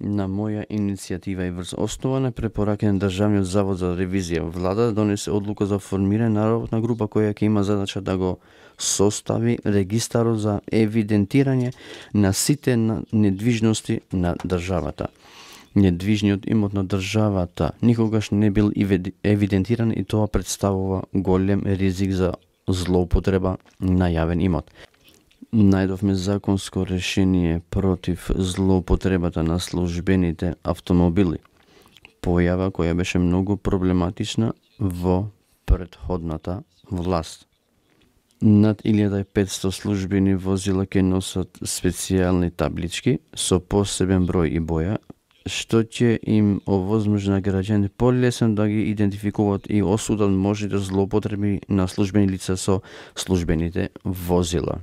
На моја иницијатива и врз основа на препораки на Државниот завод за ревизија, владата донесе одлука за формирање на работна група која ќе има задача да го состави регистарот за евидентирање на сите недвижности на државата. Недвижниот имот на државата никогаш не бил евидентиран и тоа представува голем ризик за злоупотреба на јавен имот. Најдовме законско решение против злоупотребата на службените автомобили, појава која беше многу проблематична во претходната власт. Над 1500 службени возила ќе носат специјални таблички со посебен број и боја, што ќе им овозможи на граѓаните полесно да ги идентификуваат и осудат можните злоупотреби на службени лица со службените возила.